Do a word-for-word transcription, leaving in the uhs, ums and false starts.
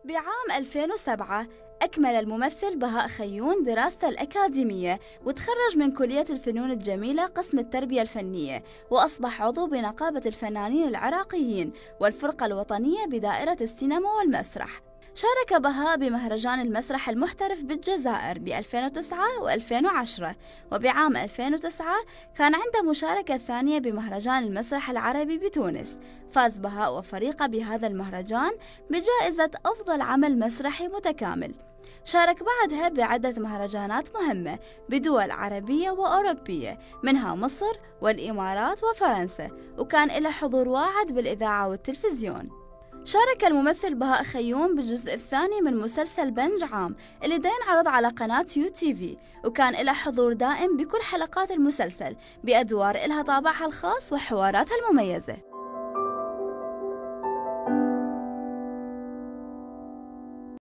بعام ألفين وسبعة أكمل الممثل بهاء خيون دراسته الأكاديمية وتخرج من كلية الفنون الجميلة قسم التربية الفنية، وأصبح عضو بنقابة الفنانين العراقيين والفرقة الوطنية بدائرة السينما والمسرح. شارك بهاء بمهرجان المسرح المحترف بالجزائر ب ألفين وتسعة و ألفين وعشرة، وبعام ألفين وتسعة كان عنده مشاركة ثانية بمهرجان المسرح العربي بتونس. فاز بهاء وفريقه بهذا المهرجان بجائزة أفضل عمل مسرحي متكامل. شارك بعدها بعدة مهرجانات مهمة بدول عربية وأوروبية منها مصر والإمارات وفرنسا، وكان له حضور واعد بالإذاعة والتلفزيون. شارك الممثل بهاء خيون بالجزء الثاني من مسلسل بنج عام اللي دا ينعرض على قناة يو تي في، وكان له حضور دائم بكل حلقات المسلسل بأدوار إلها طابعها الخاص وحواراتها المميزة.